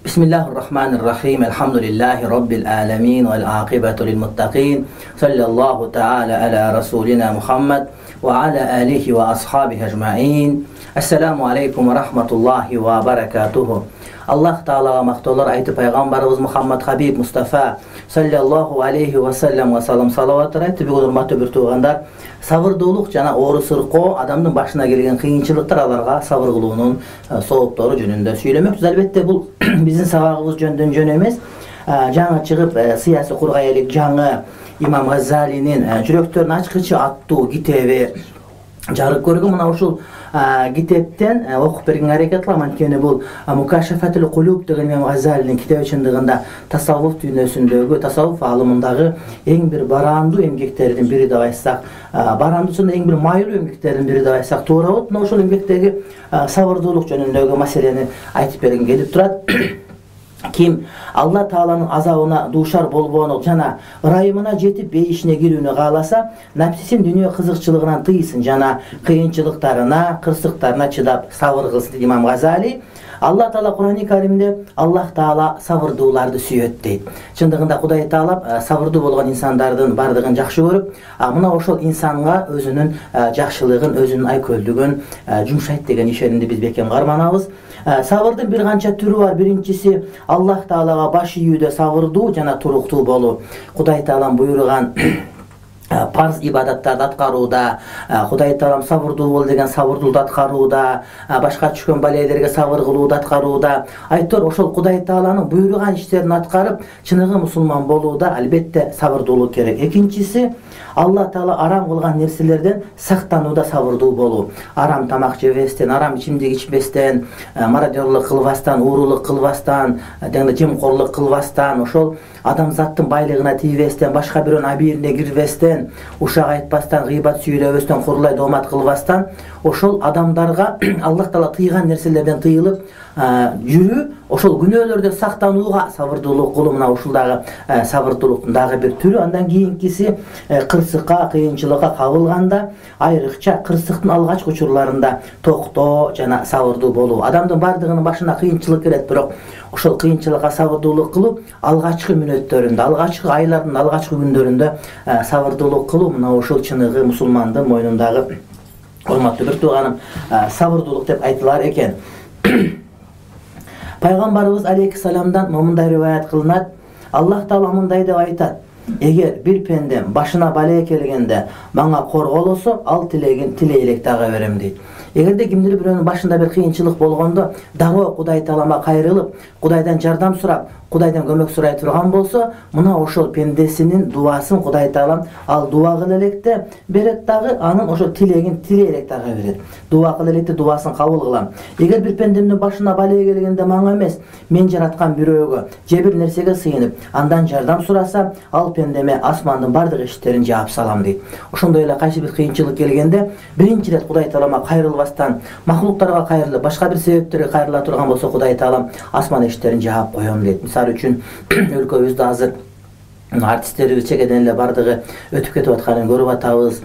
Bismillahirrahmanirrahim. Elhamdülillahi Rabbil alamin vel aqibatu lil muttaqin. Sallallahu ta'ala ala rasulina Muhammed ve ala alihi ve ashabihi ecmaîn. Assalamu aleykum ve rahmetullahi ve berekatuhu. Allah Ta'alaga maqtovlar aytib Peygamberimiz Muhammed Habib Mustafa sallallahu aleyhi ve sellem ve salam salavatlar aytib urmatlı bir tuğandar. Sabırдуулук жана оору сыркоо адамдын башына келген кыйынчылыктар аларга сабыр кылуунун сооптору жөнүндө сүйлөмөкчүбүз. Албетте бул биздин сабагыбыз жөндөн жөн эмес. Жаңы чыгып сыясий кургай элек жаңы имам Газалинин жүрөктөрүн ачкычы аттуу китеби жарык көргөн. Мына ушул китептен окуп берген аракет кылам. Анткени бул Мукашафатул Кулуб деген имам Газалинин китеби чындыгында тасаввуф дүйнөсүндөгү, тасаввуф алымындагы эң бир барандуу эмгектердин бири деп айтсак, барандуусунда эң бир майылуу эмгектердин бири деп айтсак туура болот. Мына ошол эмгектеги сабырдуулук жөнүндөгү маселени айтып берген келип турат. Ким Алла Тааланын азабына дуушар болбоону жана ырайымына жетип бейишине кирүүнү кааласа, напсисин дүйнө кызыкчылыгынан тыйсын жана кыйынчылыктарына, кырсыктарына чыдап сабыр кылсын дейт имам Газали. Алла Таала Кур'ан-ы Каримде Аллах Таала сабырдууларды сүйөт дейт. Чындыгында Кудай Таала сабырдуу болгон инсандардын бардыгын жакшы көрүп, мына ошол инсанга өзүнүн жакшылыгын, өзүнүн айкөлдүгүн жумшайт деген ишенимди биз бекем карманабыз. Сабырдын бир канча түрү бар. Биринчиси Аллах Таалага баш ийүүдө сабырдуу жана туруктуу болуу. Кудай Таалам буйруган парз ибадаттарды аткарууда, Кудай Таалам сабырдуу бол деген сабырдуулукту аткарууда, башка түшкөн балелерге сабыр кылууду аткарууда. Айтор ошол Кудай Тааланын буйруган иштерин аткарып, чыныгы мусулман болууда албетте сабырдуулук керек. Экинчиси Алла Таала арам кылган нерселерден сактанууда сабырдуу болуу. Арам тамак жебестен, арам ичимдик ичпестен, мародёрлук кылбастан, уурулук кылбастан, жемкорлук кылбастан, ошол адамзаттын байлыгына тийбестен, башка бирөөнүн абийирине кирбестен, ушак айтпастан, гыйбат сүйлөбөстөн, курлай доомат кылбастан, ошол адамдарга Аллах Таала тыйган нерселерден тыйылып жүрүү, ошол күнөөлөрдөн сактанууга сабырдуулук кылуу. Мына ушул дагы сабырдуулуктун дагы бир түрү. Андан кийинкиси кырсыкка, кыйынчылыкка кабылганда, айрыкча кырсыктын алгачкы учурларында токтоо жана сабырдуу болуу. Адамдын бардыгынын башына кыйынчылык келет, бирок ошол кыйынчылыкка сабырдуулук кылуу, алгачкы мүнөттөрүндө, алгачкы айлардын алгачкы күндөрүндө сабырдуулук кылуу, мына ошол чыныгы мусулмандын мойнундагы урматтуу бир тууганым сабырдуулук деп айтылар экен. Пайгамбарыбыз алейхиссаламдан момундай риваят кылынат. Аллах Таала мындай деп айтат: эгер бир пендем башына бале келгенде мага корголосо, ал тилегин тилей элек дагы берем дейт. Эгерде кимдир бирөөнүн башында бир кыйынчылык болгондо дароо Кудай Таалама кайрылып, Кудайдан жардам сурап, Кудайдан көмөк сурай турган болсо, мына ошол пендесинин дубасын Кудай Таалам ал дуба кыл электе берет дагы, анын ошо тилегин тилей элек дагы берет. Дуба кыл электе дубасын кабыл кылам. Эгер бир пендемдин башына бале келгенде мага эмес, мен жараткан бирөөгө же бир нерсеге сыйынып, андан жардам сураса, ал пендеме асмандын бардык эшиктерин жаап салам дейт. Ошондой эле кайсы бир кыйынчылык келгенде биринчи ирет Кудай Таалама кайрылбастан, махлуктарга кайрылып, башка бир себептерге кайрыла турган болсо, Кудай Таалам асман эшиктерин жаап коем дейт. Мисалы үчүн өлкөбүздө азыр артисттерибиз чегеден эле бардыгы өтүп кетип атканын көрүп атабыз.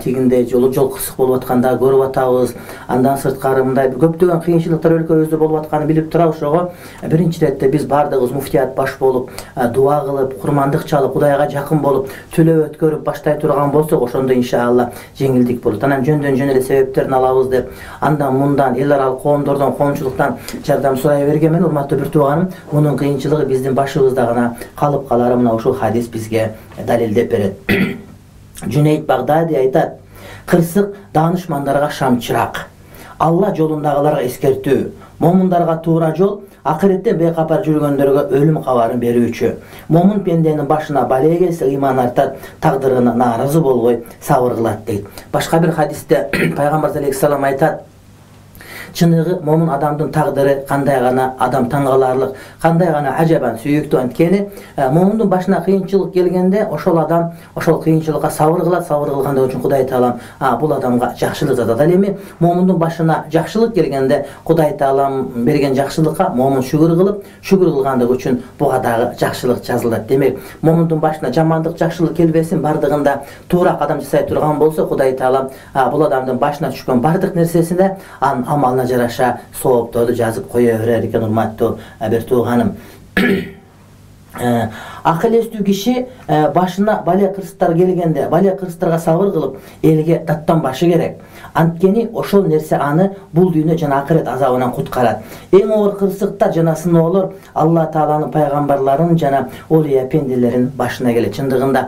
Тигинде жол кырсык болуп атканда көрүп атабыз. Андан сырткары мындай көптөгөн кыйынчылыктар өлкөбүздө болуп атканын билип турабыз. Ошого биринчи иретте биз бардыгыбыз муфтият баш болуп, дуа кылып, курмандык чалып, Кудайга жакын болуп, төлөө өткөрүп баштай турган болсок, ошондо иншалла жеңилдик болот. Анан жөндөн жөн эле себептерин алабыз деп, андан мындан эл аралык коомдордон, коомчулуктан жардам сурай бергенмен, урматтуу бир тууганым, мунун кыйынчылыгы биздин башыбызда гана калып калары мына ушул хадис бизге далилдеп берет. Жүнейт Багдади айтат: кырсык даанышмандарга шамчырак, Алла жолундагыларга эскертүү, момундарга туура жол, акыретте бейкапар жүргөндөргө өлүм кабарын берүүчү. Момун пенденин башына бале келсе, ыйман артат, тагдырына нааразы болбой сабыр кылат дейт. Башка бир хадисте Пайгамбар алейхиссалам айтат: чыныгы момун адамдын тагдыры кандай гана адам таң каларлык, кандай гана ажабан сүйүктүү. Анткени момундун башына кыйынчылык келгенде ошол адам ошол кыйынчылыкка сабыр кылат, сабыр кылгандыгы үчүн Кудай Таалам бул адамга жакшылык жасат. Ал эми момундун башына жакшылык келгенде Кудай Таалам берген жакшылыкка момун шүгүр кылып, шүгүр кылгандыгы үчүн буга дагы жакшылык жазылат. Демек, момундун башына жамандык, жакшылык келбесин, бардыгында туура кадам жасай турган болсо, Кудай Таалам бул адамдын башына түшкөн бардык нерсесине анын амалына жараша соопторду жазып кое берер экен, урматтуу бир тууганым. Акыл эстүү киши башына бале кырсыктар келгенде, бале кырсыктарга сабыр кылып, элге даттанбашы керек. Анткени ошол нерсе аны бул дүйнө жана акырет азабынан куткарат. Эң оор кырсыктар жана сыноолор Алла Тааланын пайгамбарларын жана олия пенделерин башына келет. Чындыгында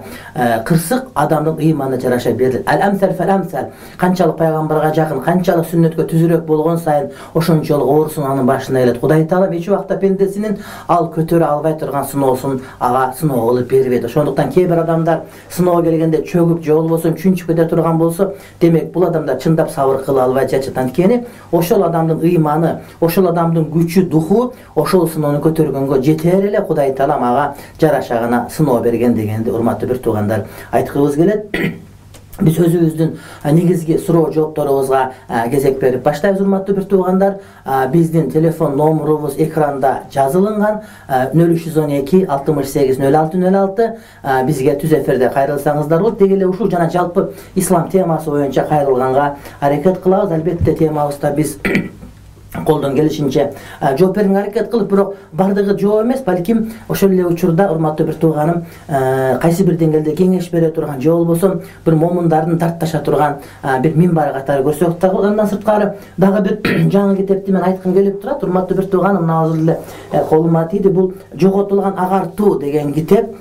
кырсык адамдын ыйманына жараша берилет. Ал-амсал фал-амсал. Канчалык пайгамбарга жакын, канчалык сүннөткө түзүрөөк болгон сайын ошончолук оор сыноо анын башына келет. Кудай Таалам эч убакта пендесинин ал көтөрө албай турган сыноосун ага сыноо кылып бербейт. Ошондуктан кээ бир адамдар сыноо келгенде чөгүп же болбосо чүнчүп кете турган болсо, демек бул адамдар чындап сабыр кыла албай жатат. Анткени ошол адамдын ыйманы, ошол адамдын күчү, духу ошол сыноону көтөргөнгө жетер эле Кудай Таалам ага жараша гана сыноо берген дегенди урматтуу бир туугандар айткыбыз келет. Биз өзүбүздүн негизги суроо жоопторубузга кезек берип баштайбыз, урматтуу бир туугандар. Биздин телефон номерубуз экранда жазылган 0312 68 06 06. Бизге түз эфирде кайрылсаңыздар болот. Деги эле ушул жана жалпы ислам темасы боюнча кайрылганга аракет кылабыз. Албетте темабызда биз колдон келишинче жооп берүүгө аракет кылып, бирок бардыгы жооп эмес, балким ошол эле учурда урматтуу бир тууганым кайсы бир деңгээлде кеңеш бере турган же болбосо бир момундардын тартташа турган бир минбар катары көрсөк дагы, андан сырткары дагы бир жаңы китепти мен айткым келип турат. Урматтуу бир тууганым, мына азыр эле колума тийди. Бул «Жоготулган агартуу» деген китеп.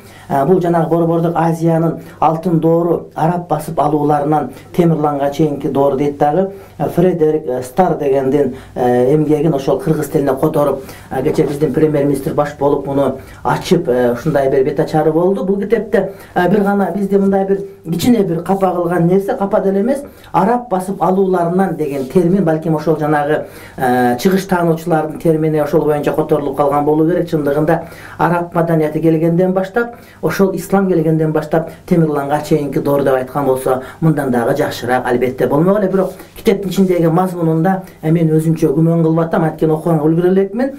Бул жанагы Борбордук Азиянын алтын доору, араб басып алууларынан Темирланга чейинки доор дейт дагы. Фредерик Стар дегендин эмгегин ошол кыргыз тилине которуп, кече биздин премьер-министр баш болуп муну ачып, ушундай бир бет ачары болду. Бул китепте бир гана бизде мындай бир кичине бир капа кылган нерсе, капа деле эмес, араб басып алууларынан деген термин, балким ошол жанагы чыгыш таануучулардын термини ошол боюнча которулуп калган болуу керек. Чындыгында араб маданияты келгенден баштап, ошол ислам келгенден баштап Темирланга чейинки доор деп айткан болсо, мындан дагы жакшыраак албетте болмок эле. Бирок китептин ичиндеги мазмунунда мен өзүмчө күмөн кылып атам, анткени окуганга үлгүрө элекмин.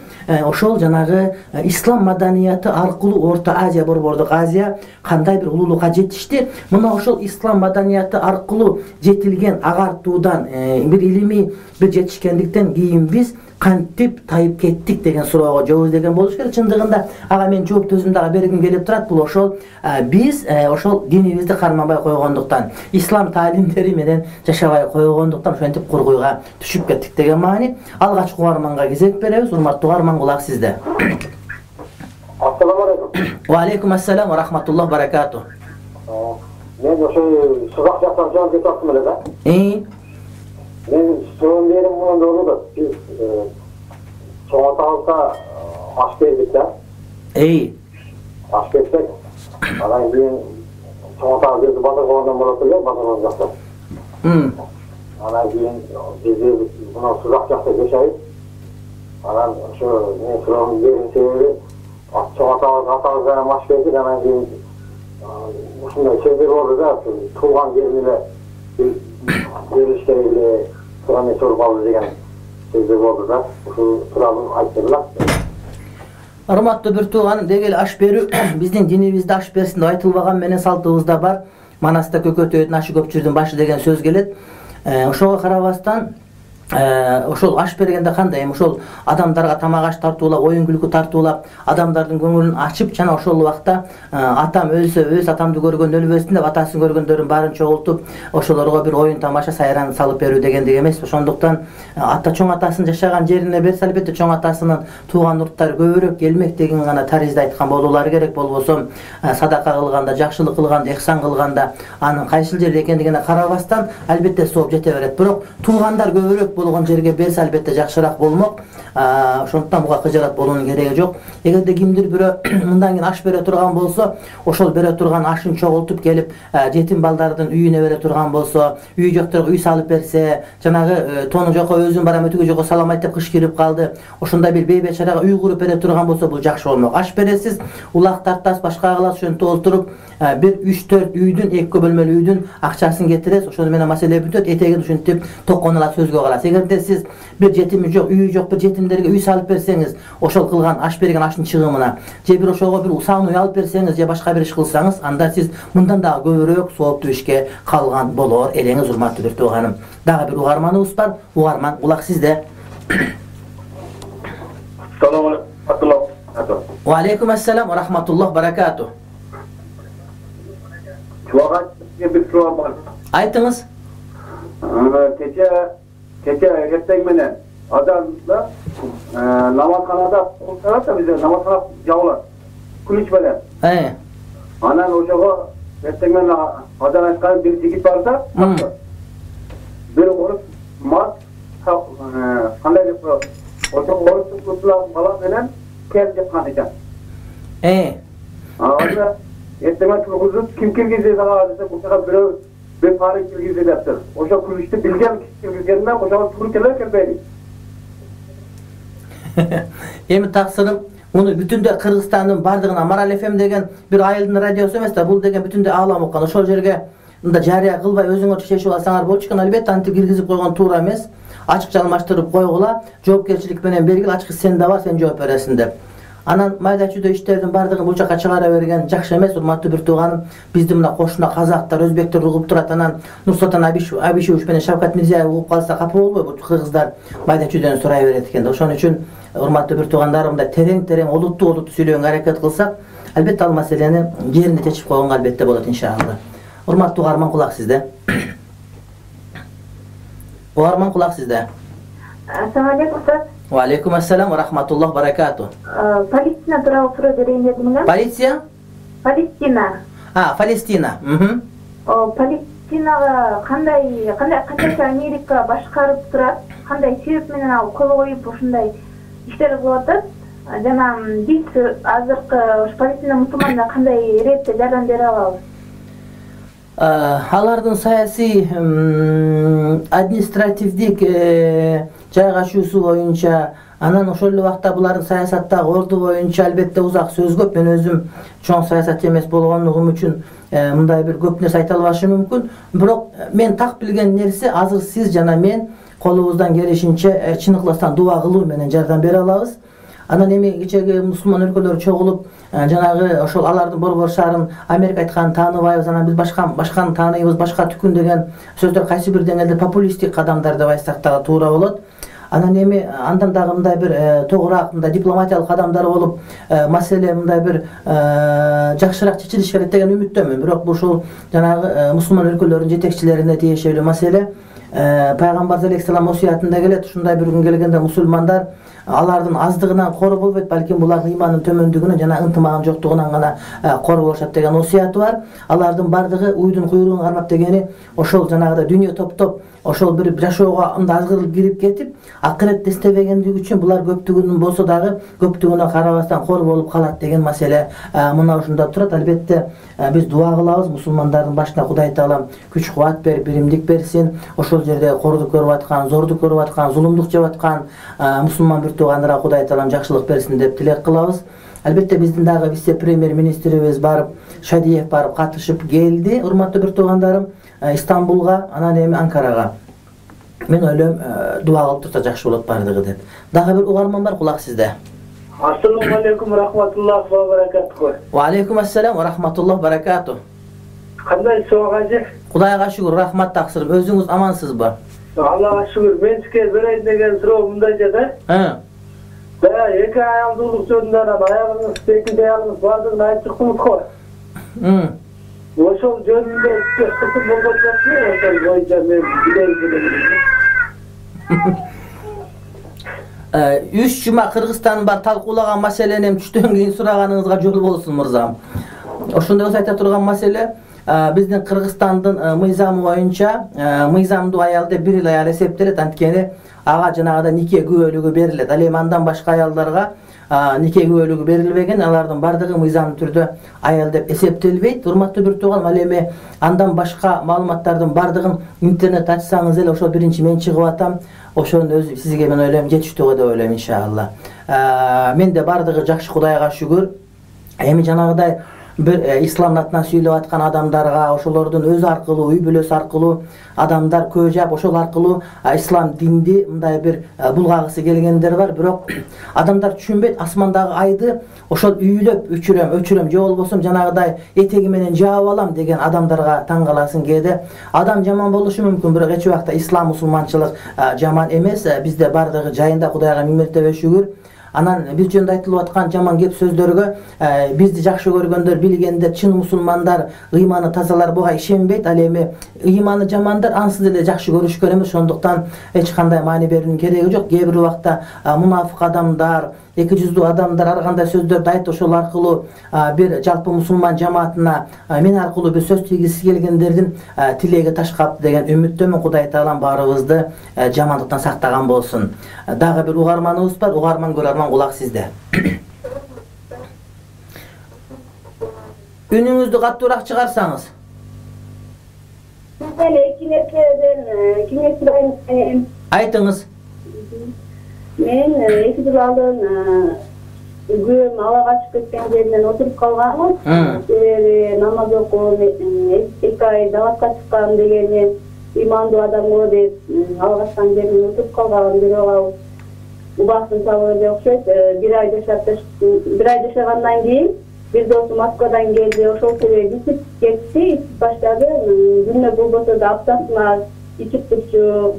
Ошол жанагы ислам маданияты аркылуу Орто Азия, Борбордук Азия кандай бир улуулукка жетишти. Мына ошол ислам маданияты аркылуу жетилген агартуудан бир илимий бир жетишкендиктен кийин биз кантип тайып кеттик деген суроого жооп издеген болуш керек. Чындыгында ага мен жооп өзүм дагы бергим келип турат. Бул ошол биз ошол динибизди карманбай койгондуктан, ислам таалимдери менен жашабай койгондуктан ошентип кургуйга түшүп кеттик деген маани. Алгачкы угарманга кезек беребиз. Урматтуу угарман, кулак сизде. Ассаламу алейкум. Ва алейкум ассалам ва рахматуллах баракату. Мен ошо сузак жактан жооп кетип аттым эле да. Мен соон берим мындай болду да. Биз чоң атабызга аш бердик да. Аш берсек, анан кийин чоң атабыз өзү базар кылгандан болот эле, базар жакта. Анан кийин биз мына сузак жакта жашайбыз. Анан ошо мен суроом бердим себеби чоң атабыз менен аш бердик. Анан кийин ушундай сөздөр болду да, туулган жерин эле бериш керек эле, туран эч болуп деген сөздөр болду да. Ушул тууралуу айтылат. Урматтуу бир тууганым, деги эле аш берүү биздин динибизде аш берсин деп айтылбаган менен салтыбызда бар. Манаста көкөтөйдүн ашы көпчүлдүн башы деген сөз келет. Ошого карабастан ошол аш бергенде кандай, ошол адамдарга тамак аш тартуулап, оюн күлкү тартуулап, адамдардын көңүлүн ачып, жана ошол убакта атам өлсө өз атамды көргөн өлбөсүн деп атасын көргөндөрүн баарын чогултуп, ошолорго бир оюн тамаша сайран салып берүү дегендик эмес. Ошондуктан ата чоң атасын жашаган жерине берсе, албетте чоң атасынын тууган урттары көбүрөөк келмек деген гана таризде айткан болуулары керек. Болбосо садака кылганда, жакшылык кылганда, ихсан кылганда анын кайсыл жерде экендигине карабастан албетте сооп жете берет. Бирок туугандар көбүрөөк болгон жерге берсе албетте жакшыраак болмок. Ошондуктан буга кыжаат болуунун кереги жок. Эгерде кимдир бирөө мындан кийин аш бере турган болсо, ошол бере турган ашын чогултуп келип жетим балдардын үйүнө бере турган болсо, үй жокторго үй салып берсе, жанагы тону жокко өзүм барам, өтүгө жокко салам айтып кыш кирип калды, ошондой бир бейбечарага үй куруп бере турган болсо, бул жакшы болмок. Аш бересиз, улак тартасыз, башка кыласыз, ошентип олтуруп бир 3-4 үйдүн, 2 бөлмөлүү үйдүн акчасын кетиресиз, ошону менен маселе бүтөт. Этегин ушинтип токконула сөзгө каласыз. Эгерде сиз бир жетими жок, үйү жок бир жетимдерге үй салып берсеңиз, ошол кылган аш берген аштын чыгымына, же бир ошого бир усаан үй алып берсеңиз, же башка бир иш кылсаңыз, анда сиз мындан дагы көбүрөөк сооптуу ишке калган болор элеңиз, урматтуу бир тууганым. Дагы бир угарманыбыз бар. Угарман, кулак сизде. Салам алейкум. Ва алейкум ассалам ва рахматуллах баракату. Bir soru var. Айтыңыз. Keçe erteğ menen adamla namazxanada otursa da bize namazxana yavlar. Kılıç menen. Anan ocağa erteğ menen adam aytkan bir jigit varsa, bir oruç mat qanday dep ocağa oruç tutulab bala menen kel dep qanıcan. Azı erteğe turguzup kim kirgizdi sağa dese bu sefer bir parı kirgizdi deptir. Oşa kuluştu bilgen kirgizgeninden oşa turu keler kelbeydi. Эми таксырым, муну бүтүндөй Кыргызстандын бардыгына Марал FM деген бир айылдын радиосу эмес да, бул деген бүтүндөй аалам уккан. Ошол жерге мында жарыя кылбай өзүңөр чечип алсаңар болчу экен. Албетте антип киргизип койгон туура эмес. Ачыкча алмаштырып койгула, жоопкерчилик менен бергил, ачык сен да бар, сен жооп бересиң деп. Анан майда чүйдө иштердин бардыгын бул жака чыгара берген жакшы эмес, урматтуу бир тууганым. Биздин мына кошуна казактар, өзбектер угуп турат, анан Нурсултан Абишевич менен Шавкат Мирзиёев угуп калса капа болбойбу? Бул кыргыздар майда чүйдөн сурай берет экен да. Ошон үчүн урматтуу бир туугандарым, мындай терең олуттуу сүйлөгөнгө аракет кылсак, албетте ал маселени жеринде чечип койгонго албетте болот иншалла. Урматтуу угарман, кулак сизде. Угарман, кулак сизде. Ассаламу алейкум, Ustaz. Ва алейкум ассалам ва рахматуллах баракату. Палестина тууралуу суроо берейин дедим эле. Полиция? Палестина. Палестина. Палестинага канча Америка башкарып турат, кандай себеп менен ал кол коюп ушундай иштер кылып атат? Жана биз азыркы Палестина мусулмандарына кандай иретте жардам бере алабыз? Алардын саясий административдик жайгашуусу боюнча, анан ошол эле убакта булардын саясаттагы орду боюнча албетте узак сөз көп. Мен өзүм чоң саясатчы эмес болгондугум үчүн мындай бир көп нерсе айта албашым мүмкүн. Бирок мен так билген нерсе, азыр сиз жана мен колубуздан келишинче чын ыкластан дуба кылуу менен жардам бере алабыз. Анан эми кечеги мусулман өлкөлөр чогулуп, жанагы ошол алардын борбор шаарын Америка айтканын тааныбайбыз, анан биз башканы тааныйбыз, башка түкүн деген сөздөр кайсы бир деңгээлде популисттик кадамдар деп айтсак дагы туура болот. Анан эми андан дагы мындай бир тогураак мындай дипломатиялык кадамдар болуп, маселе мындай бир жакшыраак чечилиш керек деген үмүттөмүн. Бирок ушул жанагы мусулман өлкөлөрдүн жетекчилерине тиешелүү маселе. Пайгамбар алейхиссалам осуятында келет, ушундай бир күн келгенде мусулмандар алардын аздыгынан кор болбойт, балким булардын ыйманынын төмөндүгүнөн жана ынтымагынын жоктугунан гана кор болушат деген осуяты бар. Алардын бардыгы уйдун куйругун кармап дегени ошол жанагыдай дүйнө топтоп, ошол бир жашоого мындай азгырылып кирип кетип, акыретти эстебегендиги үчүн булар көптүгүнүн болсо дагы көптүгүнө карабастан кор болуп калат деген маселе мына ушунда турат. Албетте биз дуа кылабыз, мусулмандардын башына Кудай Таалам күч кубат берип, биримдик берсин. Ошол жерде кордук көрүп аткан, зордук көрүп аткан, зулумдук жеп аткан мусулман бир туугандарга Кудай Таалам жакшылык берсин деп тилек кылабыз. Албетте биздин дагы вице-премьер-министрибиз барып, Шадиев барып катышып келди, урматтуу бир туугандарым, Истанбулга, анан эми Анкарага. Мен ойлойм, дуа кылып турса жакшы болот бардыгы деп. Дагы бир угарман бар, кулак сизде. Ассаламу алейкум рахматуллах ва баракату. Ва алейкум ассалам ва рахматуллах баракату. Кандай соогажы? Кудайга шүгүр, рахмат таксырым. Өзүңүз амансызбы? Аллага шүгүр. Мен сизге берейин деген суроо мындайча да. Эки аялдуулук жөнүндө аягыңыз, экинчи аягыңыз бардыгын айтып чыктыңыз го. Ошол жөнүндө кытым болгон жокпу? Ошол боюнча мен билейин. 3 жума Кыргызстандын бар талкуулаган маселени түштөн кийин сураганыңызга жол болсун мырзам. Ошондой болсо айта турган маселе, биздин Кыргызстандын мыйзамы боюнча мыйзамдуу аял деп 1 эл аял эсептелет, анткени ага жанагыда нике күбөлүгү берилет. Ал эми андан башка аялдарга нике күбөлүгү берилбеген, алардын бардыгы мыйзамдуу түрдө аял деп эсептелбейт. Урматтуу бир тууганым, ал эми андан башка маалыматтардын бардыгын интернет ачсаңыз эле ошол биринчи мен чыгып атам. Ошонун өзү сизге мен ойлойм жетиштүү деп ойлойм иншалла. Менде бардыгы жакшы, Кудайга шүгүр. Эми жанагыдай бир ислам атынан сүйлөп аткан адамдарга, ошолордун өзү аркылуу, үй бүлөсү аркылуу адамдар көп жап, ошол аркылуу ислам динди мындай бир булгагысы келгендер бар. Бирок адамдар түшүнбөйт, асмандагы айды ошол үйлөп өчүрөм, же болбосо жанагыдай этеги менен жаап алам деген адамдарга таң каласың. Кээде адам жаман болушу мүмкүн, бирок эч убакта ислам, мусулманчылык жаман эмес. Бизде бардыгы жайында, Кудайга миң мертебе шүгүр. Анан бир жөнүндө айтылып аткан жаман кеп сөздөргө бизди жакшы көргөндөр, билгендер, чын мусулмандар, ыйманы тазалар буга ишенбейт. Ал эми ыйманы жамандар ансыз эле жакшы көрүшкөн эмес, ошондуктан эч кандай маани берүүнүн кереги жок. Кээ бир убакта мунафык адамдар, эки жүздүү адамдар ар кандай сөздөрдү айтып, ошол аркылуу бир жалпы мусулман жамаатына мен аркылуу бир сөз тийгизиси келгендердин тилеги ташкап деген үмүттөмүн. Кудай таалам баарыбызды жамандыктан сактаган болсун. Дагы бир угарманыбыз бар. Угарман көрөрман, кулак сизде. Үнүңүздү каттуураак чыгарсаңыз. Мен эки нерседен кеңеш сурайм. Айтыңыз. Мен 2 жыл алдын күбөм ала качып кеткен жеринен отуруп калганмын. Себеби намаз окуп 2 ай даватка чыккан дегени имандуу адам го деп ала качкан жеринен отуруп калган. Бирок ал убактын табы эле окшойт. 1 ай жашагандан кийин бир досу Москвадан келди. Ошол себеби ичип кетти, ичип баштады. Күнүнө болбосо да аптасына ичип турчу.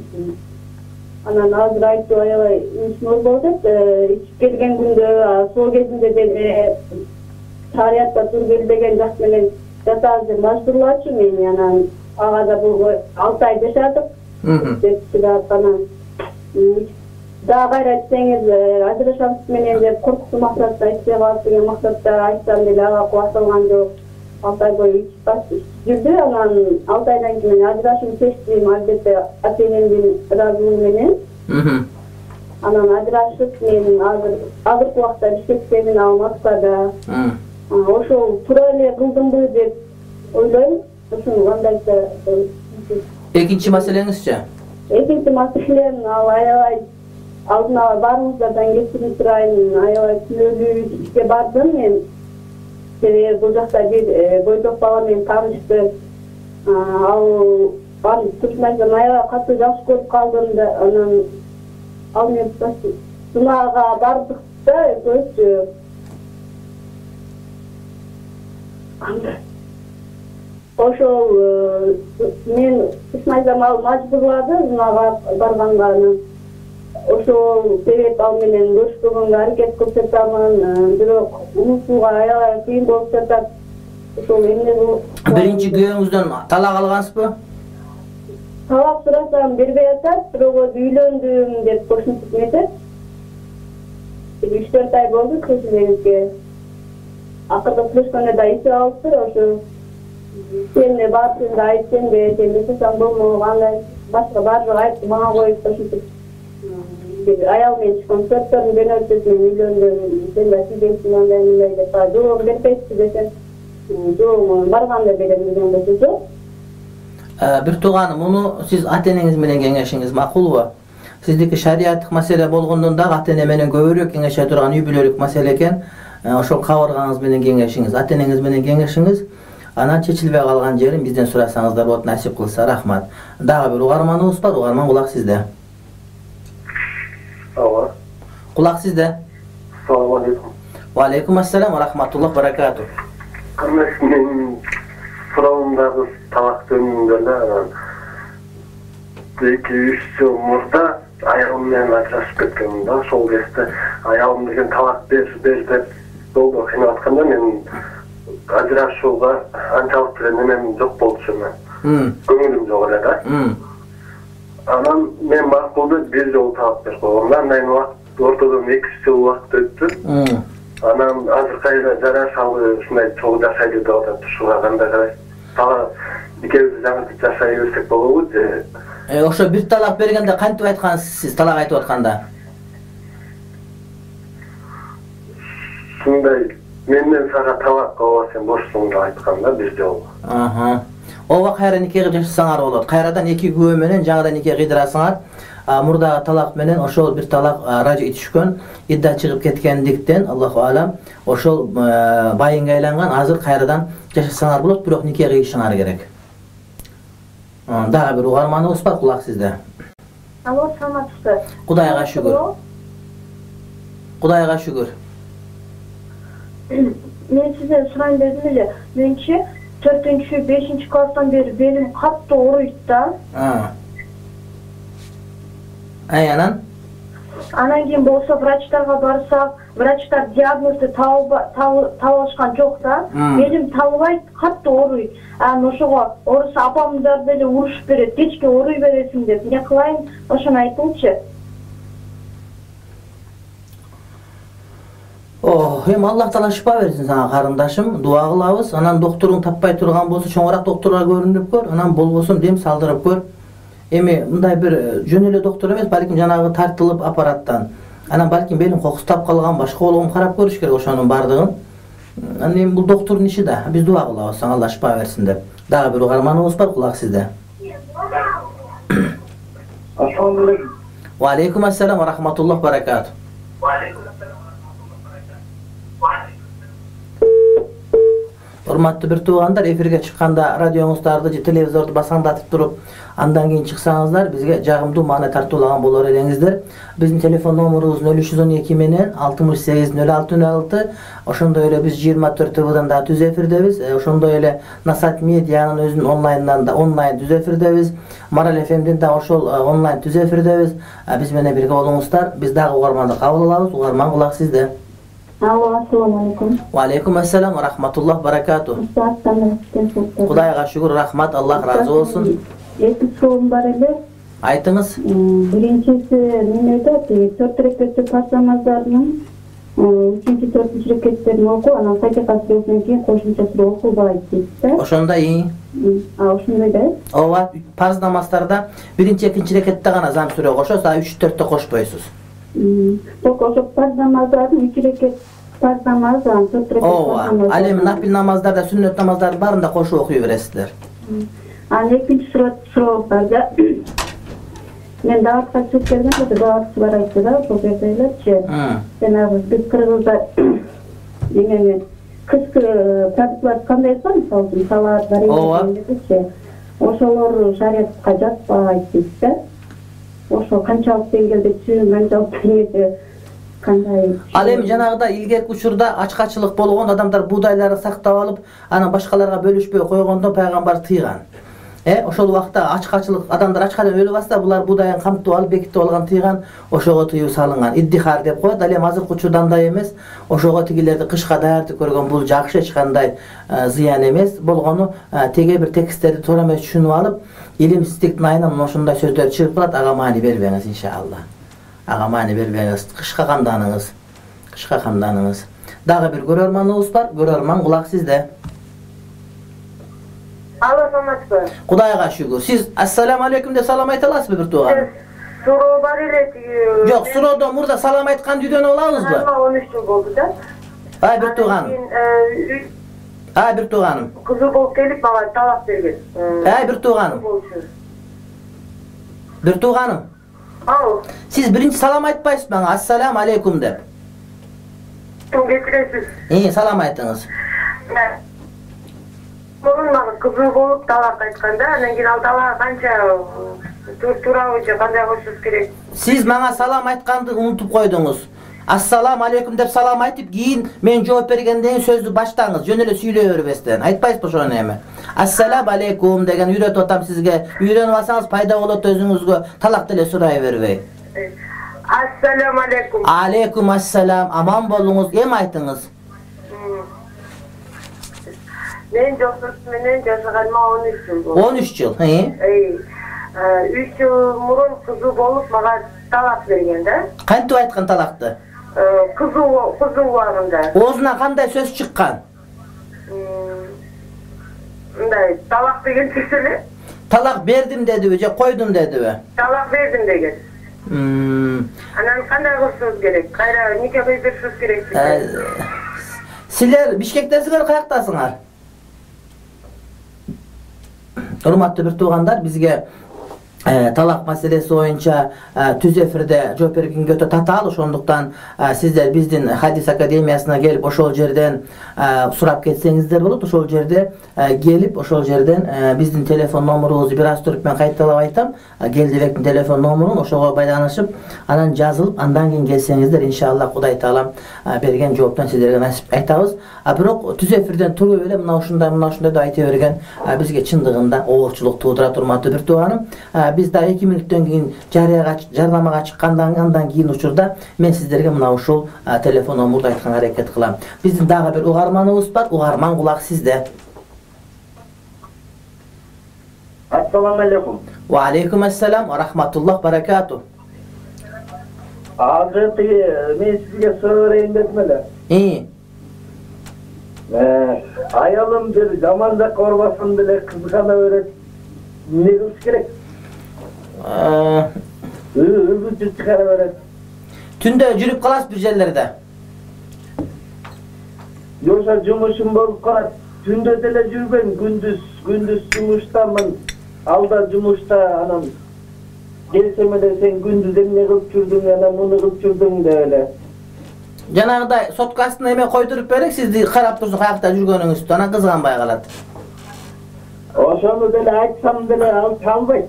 Анан азыр айтып аябай болуп атат. Ичип келген күндө, сол кезинде деле шариатта тур келбеген жак менен жатабыз деп мажбурлачу мени. Анан ага да болбой 6 ай жашадык. Анан дагы кайра айтсаңыз ажырашабыз менен деп коркутуу максатта айтпай калат деген максатта айтсам деле ага кубат алган жок. 6 ай бою ичип жүрдү. Анан 6 айдан кийин ажырашууну чечтим, албетте ата-энемдин ыраазылыгы менен. Анан ажырашып, мен азыркы убакта Бишкектемин, ал Москвада. Ошол туура эле кылдымбы деп ойлойм. Ошону кандайча. Экинчи маселеңизчи? Экинчи маселем ал аябай алдын ала баарыбыздардан кечирим сурайм. Аябай күнөөлүү ишке бардым мен. Себеби бул жакта бир бойдок бала менен таанышты. Ал турмайдан аябай катуу жакшы көрүп калдым да. Анан ал мен сынаага бардык да, өзү ошол мен ишмайзам ал мажбурлады сынаага барганга. Ошол себеп ал менен көрүшпөгөнгө аракет кылып жатамын. Бирок унутууга аябай кыйын болуп жатат. Ошол эмне болуп? Биринчи күйөөңүздөн талак алгансызбы? Талак сурасам бербей атат, бирок өзү үйлөндүм деп кошумтуп нетет. 3-4 ай болду көчүлөрүбүзгө. Акыркы сүйлөшкөндө да ичип алыптыр. Ошо сен баарын да айтсаң да, сен жасасаң болмок, андай башка баардыгы айтып мага коюп кошумтуп. Аял менен чыккан сөрттөрдүн бенөтөсүн үйлөндүм. Сен да сүйгөнсүң андай мындай деп жооп бербейсиз десем, жок барганда берем деген болчу жок. Бир тууганым, муну сиз ата-энеңиз менен кеңешиңиз макулбу? Сиздики шариаттык маселе болгондон дагы ата-эне менен көбүрөөк кеңеше турган үй бүлөлүк маселе экен. Ошол кабыргаңыз менен кеңешиңиз, ата-энеңиз менен кеңешиңиз. Анан чечилбей калган жерин бизден сурасаңыздар болот, насип кылса. Рахмат. Дагы бир угарманыбыз бар. Угарман, кулак сизде. Кулак сизде. Assalamu alaikum. Wa alaikum assalam wa rahmatullah wa barakatuh. Мен суроомдагы талак жөнүндө эле 2-3 жыл мурда аялым менен ажырашып кеткенмин да. Ошол кезде аялым деген талак бер деп долго кыйнап атканда мен ажырашууга анчалык деле немем жок болчу мен. Көңүлүм жок эле да. Анан мен макулду бир жолу талак берип койгом. Андан ортодон 2 жыл убакыт өттү. Анан азыр кайра жарашалы ушундай чогуу жашайлы деп атат. Ушуга кандай карайсыз? экөөбүз жаңы жашай берсек болобу же? Ошо бир талак бергенде кантип айткансыз сиз талак айтып атканда? Ушундай менден сага талак ооба сен бошсуң деп айткан да бир жолу. Ооба кайра нике кылып жашасаңар болот. Кайрадан эки күбө менен жаңадан нике кыйдырасыңар. Мурдагы талак менен ошол бир талак ражи түшкөн, идда чыгып кеткендиктен Аллаху алам ошол байыңга айланган, азыр кайрадан жашасаңар болот, бирок нике кыйышыңар керек. Дагы бир угарманыбыз бар, кулак сизде. Алло, саламатсызбы? Кудайга шүгүр. Кудайга шүгүр. Мен сизден сурайын дедим эле. Менчи 4-5 класстан бери белим катты ооруйт да. Анан? Анан кийин болсо врачтарга барсак, врачтар диагнозду таап алышкан жок да. Белим табылбайт, катты ооруйт. Анан ошого орусу апамдар деле урушуп берет. Кечке ооруй бересиң деп. Эмне кылайын? Ошону айтыңызчы. Эми Аллах Таала шифа берсин сага карындашым, дуа кылабыз. Анан докторуң таппай турган болсо чоңураак докторго көрүнүп көр, анан болбосо дем салдырып көр. Эми мындай бир жөн эле доктор эмес, балким жанагы тартылып аппараттан. Анан балким белим кокустап калган, башка болгон карап көрүш керек ошонун бардыгын. Анан эми бул доктордун иши да. Биз дуа кылабыз, Алла шифа берсин деп. Дагы бир угарманыбыз бар, кулак сизде. Ассаламу алейкум. Ва алейкум ассалам ва рахматуллах баракату. Урматтуу бир туугандар, эфирге чыкканда радионуздарды же телевизорду басаңдатып туруп, андан кийин чыксаңыздар, бизге жагымдуу маана тартуулаган болор элеңиздер. Биздин телефон номурубуз 0312 менен 680606. Ошондой эле биз 24 ТВдан да түз эфирдебиз. Ошондой эле Насат медианын өзүнүн онлайнынан да онлайн түз эфирдебиз. Марал ФМден да ошол онлайн түз эфирдебиз. Биз менен бирге болуңуздар. Биз дагы угарманды кабыл алабыз. Угарман кулак сизде. Алло, ассаламу алейкум. Ва алейкум ассалам ва рахматуллах баракату. Кудайга шүгүр, рахмат, Аллах разы болсун. Эки суроом бар эле. Айтыңыз. Биринчиси немеде, 4 рекетте парз намаздарынын 3-4 рекеттерин окуу, анан Фатиха сүрөсүнөн кийин кошумча сүрө окулбайт дейт да. Ошондой. Ошондой да. Ооба, парз намаздарда биринчи, экинчи рекетте гана зам сүрө кошосуз, 3-4-тө кошпойсуз. Ток ошо парз намаздардын 3 рекет парз намаз, 4 рекет. Ооба, ал эми нафил намаздарда, сүннөт намаздардын баарында кошуп окуй бересиздер. Анан экинчи суроо бар да. Мен дагатка чыгып келгенде дагатчы бар айтты да, ошол жерде элечи. Жанагы биз Кыргызда эмеме кышкы продуктлар кандай экен, мисалы салат, барек, ошолор шариатка жатпайт дейт да. Ошо канчалык деңгээлде чын, канчалык деңгээлде кандай? Ал эми жанагыда илгерки учурда ачкачылык болгон, адамдар буудайларды сактап алып, анан башкаларга бөлүшпөй койгондон пайгамбар тыйган. Ошол убакта ачкачылык, адамдар ачкадан өлүп атса, булар буудайын камтып алып, бекитип алган тыйган, ошого тыюу салынган. Иддихар деп коет. Ал эми азыркы учурда андай эмес. Ошого тигилерди кышка даярдык көргөн, бул жакшы, эч кандай зыян эмес. Болгону теге бир тексттерди туура эмес түшүнүп алып, илимсиздиктин айынан ошондой сөздөр чыгып калат. Ага маани бербеңиз иншалла. Ага маани бербеңиз. Кышка камданыңыз. Кышка камданыңыз. Дагы бир көрөрманыбыз бар. Көрөрман, кулак сизде. Алло, саламатсызбы? Кудайга шүгүр. Сиз ассаламу алейкум деп салам айта аласызбы бир тууганым? Суроо бар эле тиги. Жок, суроодон мурда салам айтканды үйдөнүп алабызбы? 13 жыл болду да. Бир тууганым. Бир тууганым. Кызы болуп келип мага талак берген. Бир тууганым. Бир тууганым. Ау. Сиз биринчи салам айтпайсызбы мага? Ассаламу алейкум деп. Ким кетиресиз? Салам айтыңыз. Мурун мага кызы болуп талак айтканда, анан кийин ал талак канча туурабы же кандай кылышыбыз керек? Сиз мага салам айтканды унутуп койдуңуз. Ассаламу алейкум деп салам айтып, кийин мен жооп бергенден кийин сөздү баштаңыз, жөн эле сүйлөй бербестен. Айтпайсызбы ошону эми? Ассаламу алейкум деген үйрөтүп атам сизге. Үйрөнүп алсаңыз пайда болот өзүңүзгө, талак деле сурай бербей. Ассаламу алейкум. Алейкум ассалам. Аман болуңуз. Эми айтыңыз. Мен жоксуз менен жашаганыма 13 жыл болду. 13 жыл, 3 жыл мурун кызы болуп мага талак берген да. Кантип айткан талакты? Кызы убагында. Оозунан кандай сөз чыккан? мындай талак деген түз эле. Талак бердим дедиби же койдум дедиби? Талак бердим деген. Анан кандай кылышыбыз керек? Кайра нике кыйып беришибиз керек. Силер Бишкектесиңер, каяктасыңар? Урматтуу бир туугандар, бизге талак маселеси боюнча түз эфирде жооп бергенге өтө татаал, ошондуктан сиздер биздин Хадис академиясына келип ошол жерден сурап кетсеңиздер болот. Ошол жерде келип, ошол жерден биздин телефон номурубузду бир аз туруп мен кайталап айтам. Келдибектин телефон номурун ошого байланышып, анан жазылып, андан кийин келсеңиздер, иншалла Кудай таалам берген жооптон сиздерге насип айтабыз. Бирок түз эфирден туруп эле мына ушундай деп айта берген бизге чындыгында оорчулук туудурат, урматтуу бир тууганым. Биз да 2 мүнөттөн кийин жарнамага чыккандан кийин учурда мен сиздерге мына ушул телефон номурду айтканга аракет кылам. Биздин дагы бир угарманыбыз бар. Угарман, кулак сизде. Ассаламу алейкум. Ва алейкум ассалам ва рахматуллах баракату. Азыркы мен сизге суроо берейин дедим эле. Аялым бир жаман жакка барбасын деле кызгана берет. Не кылыш керек? Өзү чыгара берет. Түндө жүрүп каласыз бир жерлерде? Жокса жумушум болуп калат. Түндө деле жүрбөйм, күндүз жумуштамын. Алда жумушта, анан келсем эле сен күндүз эмне кылып жүрдүң, анан муну кылып жүрдүң деп эле. Жанагыдай соткасына эме койдуруп берек, сизди карап турсун каякта жүргөнүңүздү, анан кызганбай калат. Ошону деле айтсам деле ал чалбайт.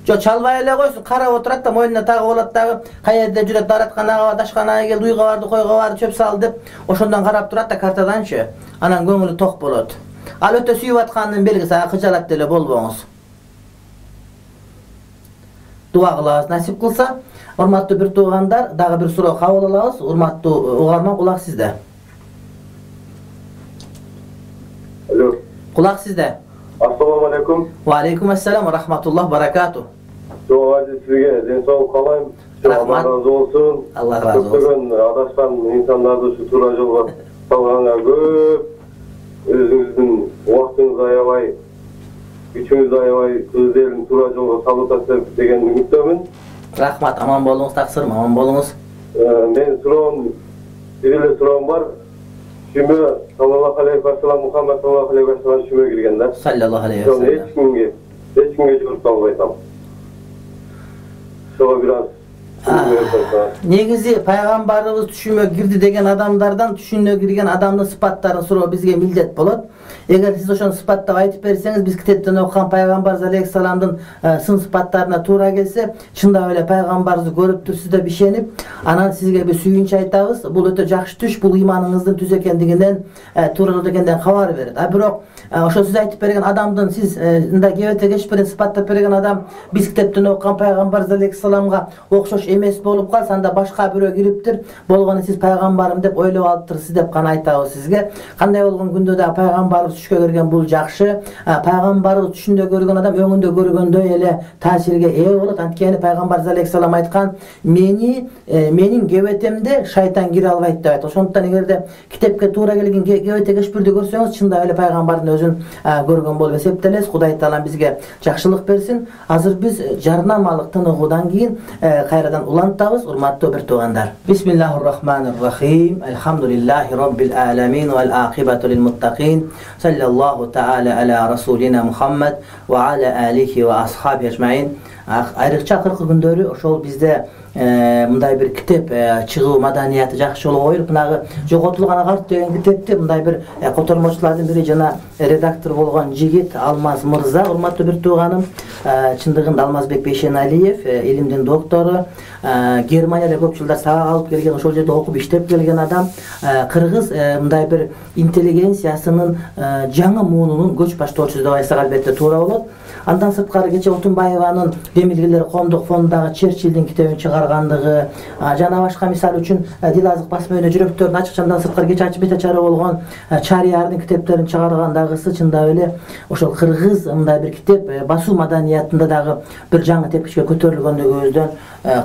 Жок, чалбай эле койсун, карап отурат да, мойнуна тагып алат дагы, каерде жүрөт, дааратканага, дашканага кел, уйга барды, койго барды, чөп сал деп, ошондон карап турат да картаданчы. Анан көңүлү ток болот. Ал өтө сүйүп атканын белгиси, кыжалат деле болбоңуз. Дуа кылабыз, насип кылса. Урматтуу бир туугандар, дагы бир суроо кабыл алабыз. Урматтуу угарман, кулак сизде. Алло. Кулак сизде. Ассаламу алейкум. Ва алейкум ассалам ва рахматуллах баракату. Жок, сизге ден соолук каалайм. Рахмат. Алла разы болсун. Алла разы болсун. Көптөгөн адашкан инсандарды ушу туура жолго салганга көп өзүңүздүн убактыңызды аябай, күчүңүздү аябай, өз элин туура жолго салып атасыздар деген үмүттөмүн. Рахмат, аман болуңуз, таксырым, аман болуңуз. Мен суроом, бир эле суроом бар. Шүмө саллаллаху алейхи ва саллям, Мухаммад саллаллаху алейхи ва саллям шүмө кирген да. Саллаллаху алейхи ва саллям. Эч кимге жүрүп албайтам. Ошого бир аз негизи пайгамбарыбыз түшүмө кирди деген адамдардан түшүнө кирген адамдын сыпаттарын суроо бизге милдет болот. Эгер сиз ошону сыпаттап айтып берсеңиз, биз китептен окуган пайгамбар алейхиссаламдын сын сыпаттарына туура келсе, чындап эле пайгамбарыбызды көрүп турсуздар бишенип, анан сизге биз сүйүнчү айтабыз. Бул өтө жакшы түш, бул ыйманыңыздын түз экендигинен, туура жолдо экендигинен кабар берет. Бирок ошо сиз айтып берген адамдын, сиз мындай кебете кечпирин сыпаттап берген адам биз китептен окуган пайгамбар алейхиссаламга окшош эмес болуп калса, анда башка бирөө кириптир, болгону сиз пайгамбарым деп ойлоп алыптырсыз деп гана айтабыз сизге. Кандай болгон күндө да пайгамбарыбыз түшкө кирген бул жакшы. Пайгамбарыбыз түшүндө көргөн адам өңүндө көргөндөй эле таасирге ээ болот. Анткени пайгамбар алейхиссалам айткан, менин кебетемде шайтан кире албайт деп айтты. Ошондуктан эгерде китепке туура келген кебете кечпирди көрсөңүз, чындап эле пайгамбардын өзүн көргөн болуп эсептелесиз. Кудай таалам бизге жакшылык берсин. Азыр биз жарнамалык тыныгуудан кийин кайрадан улантабыз, урматтуу бир туугандар. Бисмиллахир-рахманир-рахим. Алхамдулиллахи роббил аламин вал акибату лил муттакин. Саллаллаху таала аля расулина Мухаммад ва аля алихи ва асхаби ажмаин. Айрыкча акыркы күндөрү ошол бизде мындай бир китеп чыгуу маданияты жакшы болуп коюлуп, мынагы жоготулган агарт деген китепти мындай бир котормочулардын бири жана редактор болгон жигит Алмаз мырза, урматтуу бир тууганым, чындыгында Алмазбек Бейшеналиев, илимдин доктору, Германияда көп жылдар сабак алып келген, ошол жерде окуп иштеп келген адам, кыргыз мындай бир интеллигенциясынын жаңы муунунун көч баштоочусу деп айтсак албетте туура болот. Андан сырткары кече Отунбаеванын Демилгелер коомдук фондундагы Черчиллдин китебин чыгаргандыгы, жана башка мисал үчүн Дилазык басма үйүнө жүрөктөрдүн ачыкчандан сырткары кече ачып бетачары болгон Чариярдын китептерин чыгаргандагысы чындап эле ошол кыргыз мындай бир китеп басуу маданиятында дагы бир жаңы тепкичке көтөрүлгөндүгүбүздөн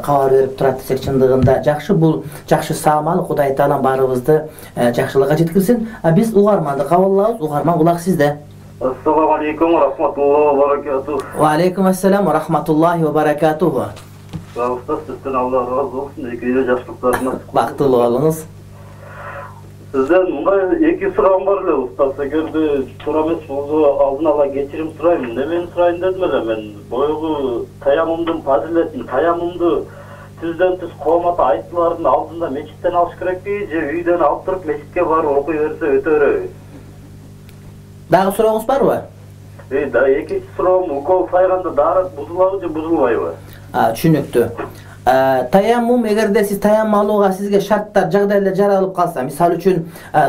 кабар берип турат десек чындыгында жакшы. Бул жакшы саамал. Кудай таалам баарыбызды жакшылыкка жеткирсин. Биз угарманды кабыл алабыз. Угарман, кулак сизде. Assalamu alaikum wa rahmatullahi wa barakatuh. Wa alaikum assalam wa rahmatullahi wa barakatuh. Ustoz, sizden Allah razı olsun. İkili yaşlıklarınız. Baktılı olunuz. Sizden iki sıram var le ustoz. Eğer de sorames oldu aldın ala geçirim sırayım. Ne men sırayım dedim ben. Boygu tayamımdın faziletin, tayamımdı sizden siz kovmata ayttıların aldığında meçitten alış gerek değil. Üyden alıp durup meçitke var okuyorsa ötörü. Daha sorağınız var mı? Da iki sıram ukol sayganda darat buzulabı buzulbayбы? Түшүнүктүү. Tayammum эгерде сиз таяммум алууга сизге шарттар, жагдайлар жаралып калса, мисалы үчүн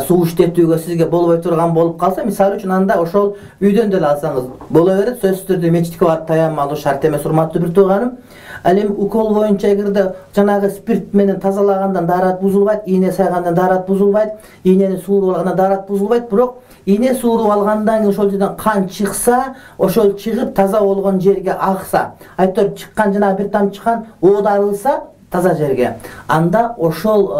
суу иштетүүгө сизге болбой турган болуп калса, мисалы үчүн анда ошол үйдөн деле алсаңыз боло берет. Сөзсүз түрдө мечитке барып таяммум алуу шарт эмес, урматтуу бир тууганым. Ал эми укол боюнча эгерде жанагы спирт менен тазалагандан дарат бузулбайт, ийне сайгандан дарат бузулбайт, ийнени сууруп алгандан дарат бузулбайт, бирок ийне сууруп алгандан кийин ошол жерден кан чыкса, ошол чыгып таза болгон жерге акса, айтор чыккан жанагы бир тамчы кан оодарылса таза жерге, анда ошол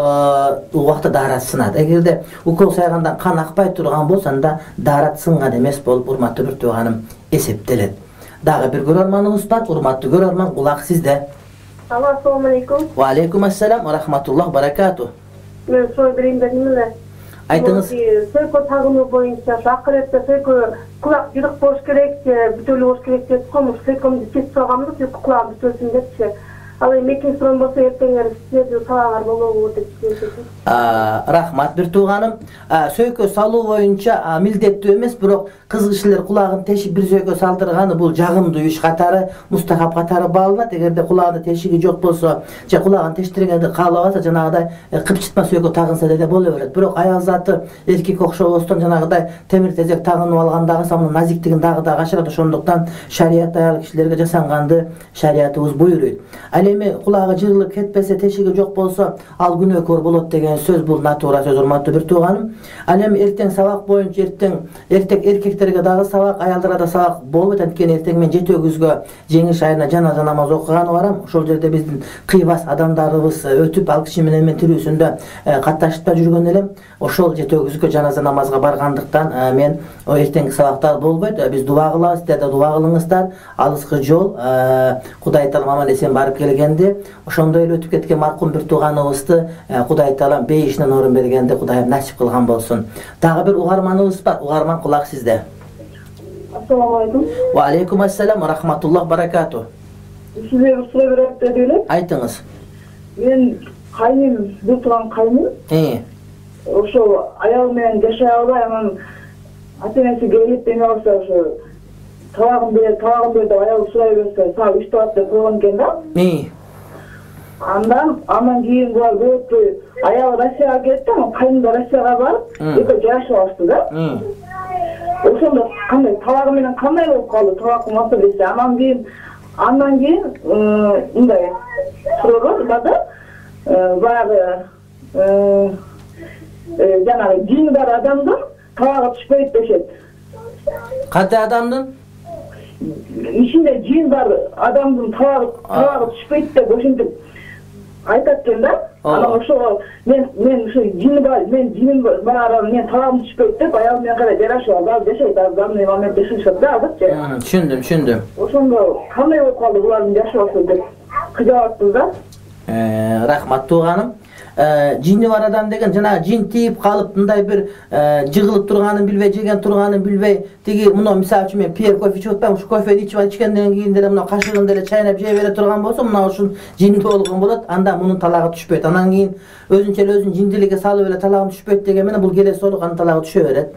убакта дарат сынат. Эгерде укол сайгандан кан акпай турган болсо, анда дарат сынган эмес болуп, урматтуу бир тууганым, эсептелет. Дагы бир көрөрманыбыз бар, урматтуу көрөрман, кулак сизде. Assalamu alaikum. Wa alaikum assalam wa rahmatullah barakatuh. Мен сой берейин дедим эле. Айтыңыз. Сөйкө тагынуу боюнча акыретте сөйкө кулак жырык болуш керек, бүтөлүү болуш керек деп коюш, сөйкөмдү кесип салганбыз, сөйкө кулагым бүтөлсүн депчи. Ал эми экинчи сурам болсо эртеңер сиздердин салаңар болобу деп сөйлөшөт. Рахмат бир тууганым. Сөйкө салуу боюнча милдеттүү эмес, бирок кыз кишилер кулагын тешип бир сөйкө салдырганы бул жагымдуу иш катары, мустахап катары бааланат. Эгерде кулагында тешиги жок болсо, же кулагын тештиргенди каалабаса, жанагыдай кыпчытма сөйкө тагынса деле боло берет. Бирок аял заты эркек окшобостон жанагыдай темир тезек тагынып алгандагы самын назиктигин дагы да качырат. Ошондуктан шарият аял кишилерге жасанганды шариятыбыз буйруйт. Эми кулагы жырылып кетпесе, тешиги жок болсо, ал күнөөкөр болот деген сөз, бул натура сөз, урматтуу бир тууганым. Ал эми эртең сабак боюнча эркектерге дагы сабак, аялдарга да сабак болбойт. Анткени эртең мен жети өгүзгө жеңиш айына жаназа намаз окуганы барам. Ошол жерде биздин кыйбас адамдарыбыз өтүп, ал киши менен мен тирүүсүндө катташып жүргөн элем. Ошол жети өгүзгө жаназа намазга баргандыктан мен эртеңки сабактар болбойт. Биз дуа кылабыз, сиздер да дуа кылыңыздар. Алыскы жол, Кудай Таалам аман эсен барып келгенде, ошондой эле өтүп кеткен маркум бир тууганыбызды Кудай Таалам бейишинен орун бергенде Кудайым насип кылган болсун. Дагы бир угарманыбыз бар. Угарман, кулак сизде. Assalamu alaikum. Wa alaikum assalam wa rahmatullah barakatuh. Sizге бир суроо берет деп элем. Айтыңыз. Мен кайным, бир турган кайным. Ошо аял менен жашай албай, анан ата-энеси келип эме алса, ошо табагын бер деп аял сурай берсе, сага 3 табак деп койгон экен да. Андан кийин булар көптү аял Россияга кетти, кайным да Россияга барып, экөө жашап алышты да. Ошондо кандай табагы менен кандай болуп калды, табак маселеси. Андан кийин мындай суроо бада баягы жанагы жини бар адамдын табагы түшпөйт дешет. Кандай адамдын? Ичинде жин бар адамдын табагы түшпөйт деп ошентип айтат экен да. Анан ошо мен ошо жини бар, жиним бар, мен табагым түшпөйт деп аялым менен кара жарашып алып жашайт. Азыр момент жашашат да азырчы. Түшүндүм. Ошондо кандай болуп калды булардын жашоосу деп кыжабаттым да. Рахмат тууганым. Жини бар адам деген жана жин тийип калып мындай бир жыгылып турганын билбей, жеген турганын билбей, тиги мына мисалы үчүн мен пиер кофе ичип атпайм, ушу кофени ичкенден кийин деле мына кашыгын деле чайнап жей бере турган болсо, мына ушун жини болгон болот. Анда мунун талагы түшпөйт. Андан кийин өзүнчө эле өзүн жиндиликке салып эле талагым түшпөйт деген менен бул келесі жолу анын талагы түшө берет.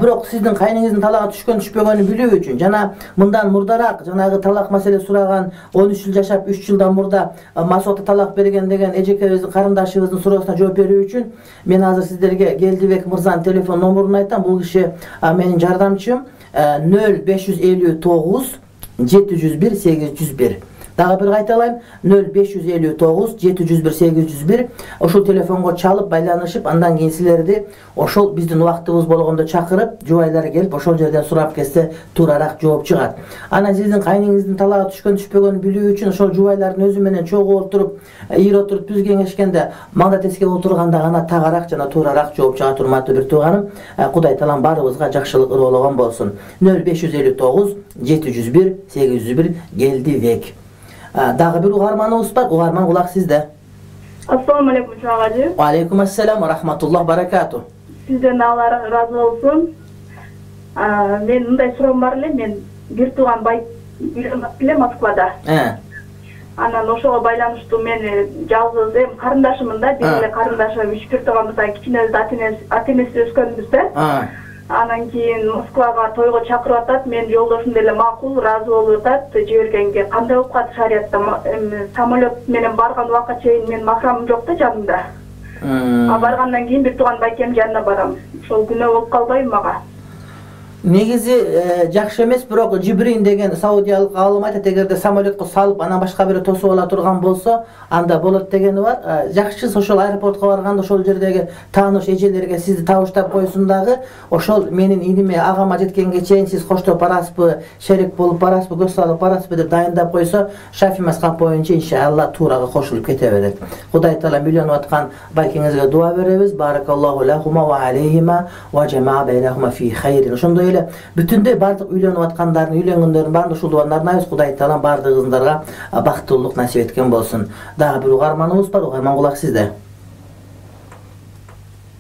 Бирок сиздин кайныңыздын талагы түшкөн түшпөгөнүн билүү үчүн жана мындан мурдараак жанагы талак маселе сураган 13 жыл жашап 3 жылдан мурда масоокто талак берген деген эжекебиздин карындашыбыздын суроосуна жооп берүү үчүн мен азыр сиздерге Келдибек мырзанын телефон номерун айтам. Бул киши менин жардамчым 0559 701 801 Дагы бир кайталайм, 0559 701 801 ошол телефонго чалып байланышып, андан кийин силерди ошол биздин убактыбыз болгондо чакырып, жубайлар келип ошол жерден сурап келсе туурараак жооп чыгат. Анан сиздин кайныңыздын талаага түшкөнүн билүү үчүн ошол жубайлардын өзү менен чогуу отуруп, ийире отуруп биз кеңешкенде маңда тескеп отурганда гана тагыраак жана туурараак жооп чыгат. Урматтуу бир тууганым, Кудай таалам баарыбызга жакшылык ыргоологон болсун. 0559 701 801 келди век. Дагы бир угарманыбыз бар. Угарман, кулак сизде. Ассаламу алейкум чагажы. Ва алейкум ассалам ва рахматуллах баракату. Сизден Алла разы болсун. Мен мындай суроом бар эле. Мен бир тууган бай үйлөнүп эле Москвада. Анан ошого байланыштуу мен жалгыз карындашымын да, бир эле карындашым, бир тууганбыз, кичинебиз ата энеси өскөнбүз да. Анан кийин Москвага тойго чакырып атат. Мен жолдошум деле макул, ыраазы болуп атат. Жибергенге кандай болуп калат шариятта? Самолет менен барган убакка чейин мен махрамым жок да жанымда. Баргандан кийин бир тууган байкем жанына барам. Ошол күнөө болуп калбайбы мага? Негизи жакшы эмес, бирок Жибрин деген саудиялык аалым айтат, эгерде самолетко салып, анан башка бири тосуп ала турган болсо, анда болот дегени бар. Жакшы ошол аэропортко барганда ошол жердеги тааныш эжелерге сизди табыштап койсун дагы, ошол менин иниме, агама жеткенге чейин сиз коштоп барасызбы, шерик болуп барасызбы, көз салып барасызбы деп дайындап койсо, Шафи мазхаб боюнча иншалла туурага кошулуп кете берет. Кудай таала үйлөнүп аткан байкеңизге дуа беребиз. Баракаллаху лахума ва алейхима ва жамаа байнахума фи хайрин. Ошондой эле бүтүндөй бардык үйлөнүп аткандардын, үйлөнгөндөрдүн баардык ушул дуаны арнайбыз. Кудай таалам бардыгыңыздарга бактылуулук насип эткен болсун. Дагы бир угарманыбыз бар. Угарман, кулак сизде.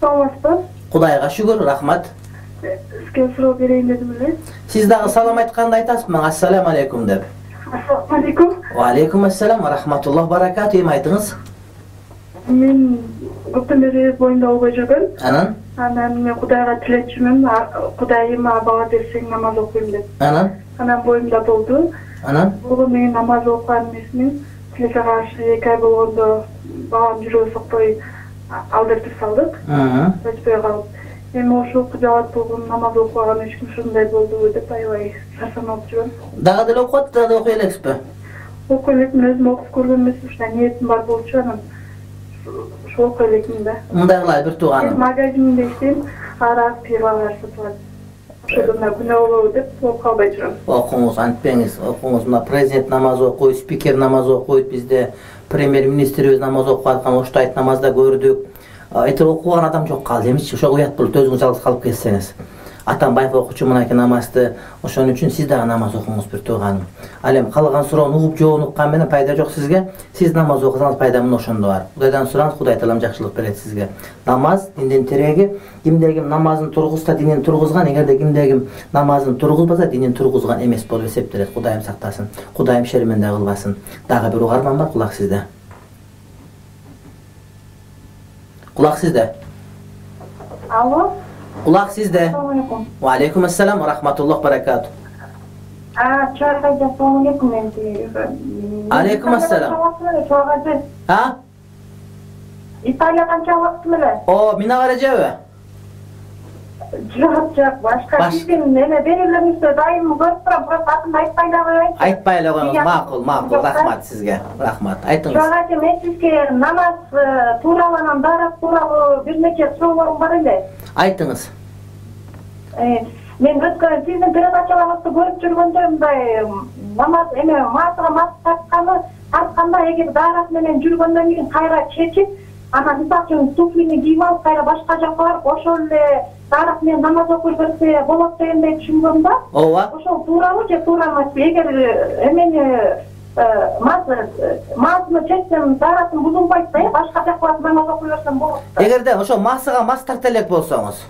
Саламатсызбы? Кудайга шүгүр, рахмат. Сизге суроо берейин дедим эле. Сиз дагы салам айтканда айтасызбы? Ассаламу алейкум деп. Ассаламу алейкум. Ва алейкум ассалам ва рахматуллах баракату. Эми айтыңыз. Мен көптөн бери боюмда болбой жүргөн. Анан мен Кудайга тилечимин. Кудайыма бала берсең намаз окуйм деп. Анан боюмда болду. Бул менин намаз окуган эмесмин. Тилекке каршы 2 ай болгондо балам жүрөгү сокпой алдыртып салдык. Өчпөй калып. Эми ошол жабат болгон намаз окуган үчүн ушундай болду деп аябай шарчанып жүрөм. Дагы деле окуп, дагы окуй элексизби? Окуй элекмин, өзүм окуп көргөн эмесмин, ушундай ниетим бар болчу, анан ошол окуй элекмин да. Мындай кылайлы бир тууганым. Магазинде иштейм, арак, пивалар сатып алат. Ошондо күнөө болобу деп окуп калбай жүрөм. Окуңуз, антпеңиз, окуңуз. Мына президент намаз окуйт, спикер намаз окуйт, бизде премьер-министрибиз намаз окуп аткан, оштайт намазда көрдүк. Айтыр окуган адам жок калды эмичи, ошо уят болуп өзүңүз жалгыз калып кетсеңиз. Атамбаев окучу мынакей намазды, ошон үчүн сиз дагы намаз окуңуз бир тууганым. Ал эми калган суроону угуп жообун уккан менен пайда жок сизге. Сиз намаз окусаңыз пайда мына ошондо бар. Кудайдан сураңыз, Кудай таалам жакшылык берет сизге. Намаз диндин тиреги. Кимде ким намазын тургузса динин тургузган, эгерде кимде ким намазын тургузбаса динин тургузган эмес болуп эсептелет. Кудайым сактасын. Кудайым шерменде кылбасын. Дагы бир угарман бар, кулак сизде. Кулак сизде. Алло. Кулак сизде. Ассаламу алейкум. Ва алейкум ассалам ва рахматуллах баракату. Чагажы, ассаламу алейкум. Алейкум ассалам. Чагажы. Италия канча убакыт эле? Мина каражабы? Жок, башка биздин эме берилерибизде дайым көрүп турам, бирок атын айтпай да коеюнчу. Айтпай эле коюңуз, макул, рахмат сизге. Рахмат. Айтыңыз. Чагажы, мен сизге намаз тууралуу, анан дарак тууралуу бир нече суроолорум бар эле. Айтыңыз. Мен өткөн сиздин передачаларыңызды көрүп жүргөндө мындай намаз эме маасыга мас тартканда эгер дарак менен жүргөндөн кийин кайра чечип, анан мисалы үчүн туфлини кийип алып кайра башка жакка барып ошол эле дарак менен намаз окуй берсе болот дегендей түшүнгөм да. Ооба. Ошол туурабы же туура эмеспи? Эгер эмени маасыны чечсем дарактын бузулбайт да, башка жакка барып намаз окуй берсем болот да. Эгерде ошол маасыга мас тарта элек болсоңуз.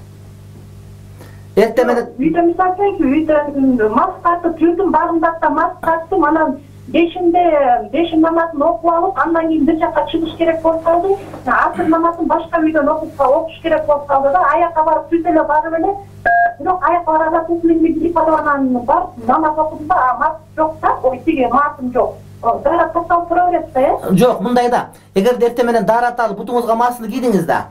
Эрте менен үйдө мисалы үчүн үйдө мас тартып жүрдүм, багымда да мас тарттым, анан бешим намазын окуп алып, андан кийин бир жакка чыгыш керек болуп калды. Асыр намазын башка үйдөн окуш керек болуп калды да. Аякка барып түз эле барып эле, бирок аякка барганда туфлимди кийип барып анан барып намаз окудум да, мас жок да, тиги маасым жок. Дара токтолуп тура берет да, Жок, мындай да. Эгерде эрте менен дарат алып бутуңузга маасыны кийдиңиз да.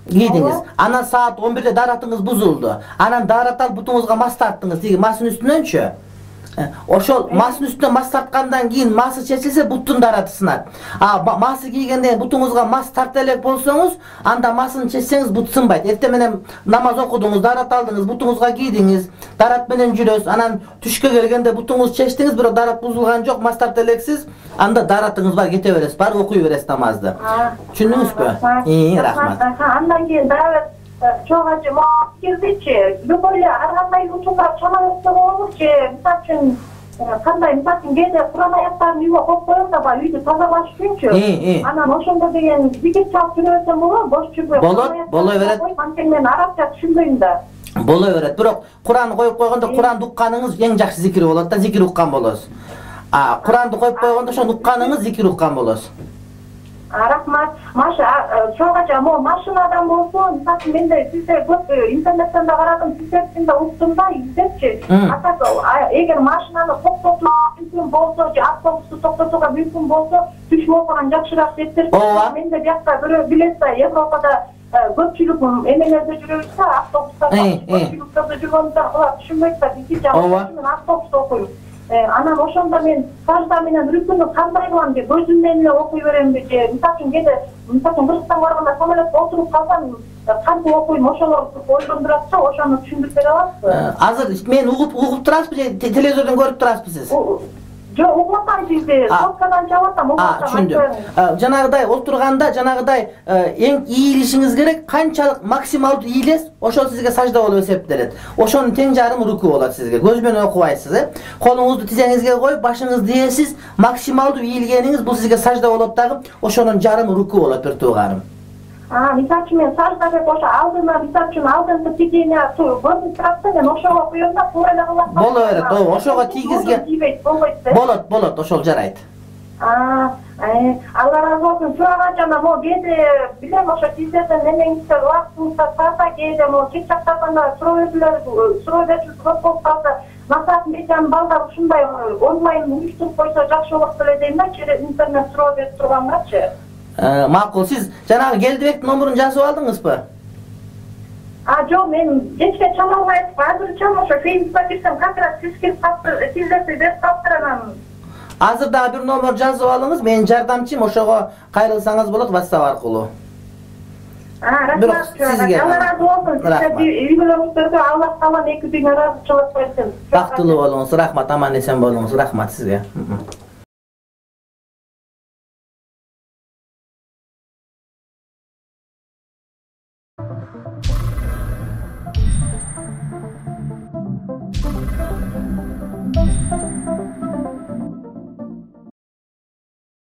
Кийдиңиз. Анан саат 11-де даратыңыз бузулду. Анан дарат алып бутуңузга мас тарттыңыз, тиги маастын үстүнөнчү. Ошол маснын үстүнө мас тарткандан кийин масы чечилсе буттун дараты сынат. Масы кийгенде бутуңузга мас тарта элек болсоңуз, анда масын чечсеңиз бут сынбайт. Эртең менен намаз окудуңуз, дарат алдыңыз, бутуңузга кийдиңиз, дарат менен жүрөсүз. Анан түшкө келгенде бутуңуз чечтиңиз, бирок дарат бузулган жок, мас тарта элексиз, анда даратыңыз бар, кете бересиз, барып окуй бересиз намазды. Түшүндүңүзбү? Рахмат. Андан кийин дагы чогачы кирдичи, любой эле ар кандай учурлар чамалыкта болобучу, мисалы үчүн кандай, мисалы үчүн кээде Куран аяттарын үйгө коюп коем да, баягы үйдү тазалаш үчүнчү. Анан ошондо деген зикир чалып жүрө берсем болобу? Бош жүрбөй. Боло берет. Анткени мен арабча түшүнбөйм да. Боло берет. Бирок Куран коюп койгондо Куранды укканыңыз эң жакшы зикир болот да, зикир уккан болосуз. Куранды коюп койгондо ошону укканыңыз зикир уккан болосуз. Рахмат. Чогача машинадан болсо, мисалы менде сизде көп интернеттен да карадым, сиздердин да уктум да, издепчи. Эгер машинаны токтотууга мүмкүн болсо, же автобусту токтотууга мүмкүн болсо, түш окуган жакшыраак дептир. Менде биякта бирөө билет да, Европада көпчүлүк эмелерде жүрөбүз да, автобустарда көпчүлүктөрдө жүргөндө алар түшүнбөйт да, биздин жагыбыз мен автобуста окуйм. Анан ошондо мен сажда менен рүкүнү кандай кылам деп көзүм менен эле окуй беремби же мисалы үчүн кээде Кыргызстанга барганда самолетке отуруп калсам кантип окуйм, ошолор ойлондурат да, ошону түшүндүрүп бере аласызбы? Азыр мен угуп турасызбы же телевизордон көрүп турасызбы сиз? Жок, угуп атам сизди, соткадан чалып атам, угуп атам. Түшүндүм. Жанагыдай отурганда, жанагыдай эң ийилишиңиз керек, канчалык максималдуу ийилес, ошол сизге сажда болуп эсептелет. Ошонун тең жарымы руку болот сизге. Көз менен окубайсыз, колуңузду тизеңизге коюп, башыңызды ээсиз, максималдуу ийилгениңиз бул сизге сажда болот дагы, ошонун жарымы руку болот, бир туугарым. Мисалы үчүн мен сажда деп ошо алдына, мисалы үчүн алдыңкы тигине көрүнүп турат да, мен ошого коём да, туура эле кылат. Боло берет, ошого тийгизген. Болот, ошол жарайт. Алла разы болсун. Чогачана кээде билем ошо сиздерден немеңиздер убактыңызда тарта, кээде кеч жактарганда суроо берүүсү көп болуп калса, максат мечан балдар ушундай онлайн уюштуруп койсо жакшы болот эле дейм да, через интернет суроо берип тургангачы. Макул, сиз жанагы Келдибектин номерун жазып алдыңызбы? Жок, мен кечке чамалбай айтып, азырча ошо Фейсбукка кирсем, как раз сиздерди берип калыптыр анан. Азыр дагы бир номер жазып алыңыз, менин жардамчым, ошого кайрылсаңыз болот WhatsApp аркылуу. Рахмат. Алла разы болсун. Сиздерди үй-бүлөңүздөргө Аллах таалам эки дүйнө ыраазычылык берсин. Бактылуу болуңуз, рахмат, аман эсен болуңуз, рахмат сизге.